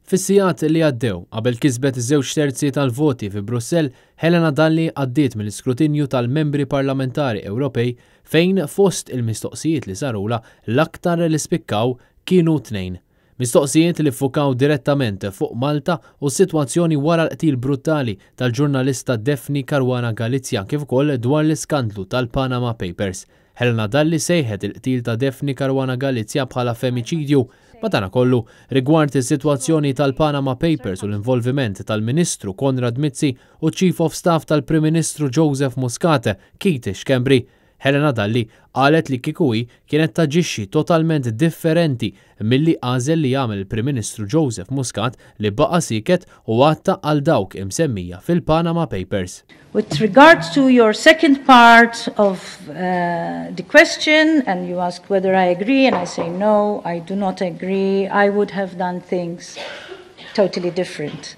Fis-sigħat li għaddew, qabel kisbet żewġ terzi tal-voti fi Brussell, Helena Dalli għaddiet mill-iskrutinju tal-membri parlamentari Ewropej fejn fost il-mistoqsijiet li sarulha l-aktar li spikkaw kienu tnejn. Mistoqsijiet li ffukaw direttament fuq Malta u s-sitwazzjoni wara l-qtil brutali tal-ġurnalista Daphne Caruana Galizia kif ukoll dwar l-iskandlu tal-Panama Papers. Helena Dalli sejħet il-qtil ta' Daphne Caruana Galizia bħala femiċidju. Madankollu, rigward is-sitwazzjoni tal-Panama Papers u l-involviment tal-Ministru Konrad Mizzi u Chief of Staff tal-Prim Ministru Joseph Muscat, Keith Schembri, Helena Dalli qalet li kieku hi kienet taġixxi totalment differenti milli għażel li jagħmel il-Prim Ministru Joseph Muscat li baqa' sieket u għatta għal dawk imsemmija fil-Panama Papers. With regards to your second part of the question, and you ask whether I agree, and I say no, I do not agree, I would have done things totally different.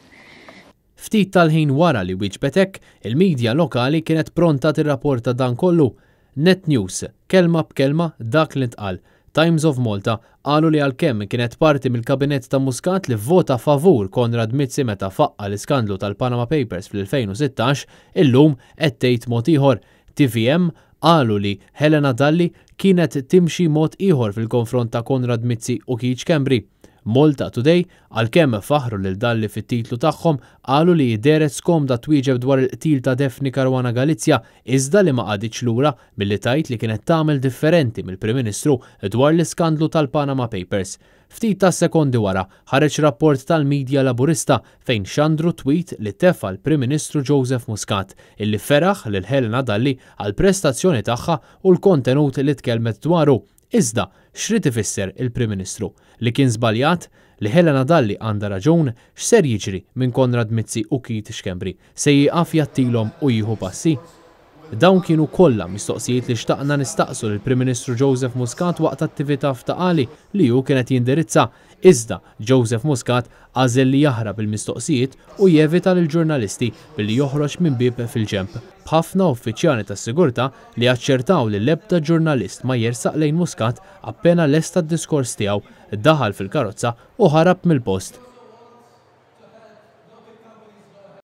Ftit tal-ħin wara li wieġbet hekk, il-midja lokali kienet pronta tirrapporta dan kollu. Net News, kelma b'kelma dak li ntqal. Times of Malta qalu li għalkemm kienet parti mill-kabinett ta' Muscat li vvota favur Konrad Mizzi meta faqqa l-iskandlu tal-Panama Papers fl-2016, illum qed tgħid mod ieħor. TVM qalu li Helena Dalli kienet timxi mod ieħor fil-konfront ta' Konrad Mizzi u Keith Schembri. Malta Today, għalkemm faħru lil Dalli fit-titlu tagħhom, qalu li dehret skomda twieġeb dwar il-qtil ta' Daphne Caruana Galizia, iżda li ma qagħditx lura milli tgħid li kienet tagħmel differenti mill-Prim Ministru dwar l-iskandlu tal-Panama Papers. Ftit ta' sekondi wara ħareġ rapport tal-midja Laburista fejn xandru tweet li tefa l-Prim Ministru Joseph Muscat illi feraħ lil Helena Dalli għal prestazzjoni tagħha u l-kontenut li tkellmet dwaru. Iżda, x'rid ifisser il-Prim Ministru? Li kien żbaljat? Li Helena Dalli għandha raġun? X'ser jiġri minn Konrad Mizzi u Keith Schembri? Se jieqaf jgħattilhom u jieħu passi? Dawn kienu kollha mistoqsijiet li xtaqna nistaqsu lill-Prim Ministru Joseph Muscat waqt attività f'Ta' Qali li hu kienet jindirizza. Iżda, Joseph Muscat għażel li jaħrab il-mistoqsijiet u jevita lill-ġurnalisti billi joħroġ minn bieb fil-ġenb, b'ħafna uffiċjali tas-sigurtà li aċċertaw li l-ebda ġurnalist ma jersaq lejn Muscat appena lesta d-diskors tiegħu, daħal fil-karozza u ħarab mill-post.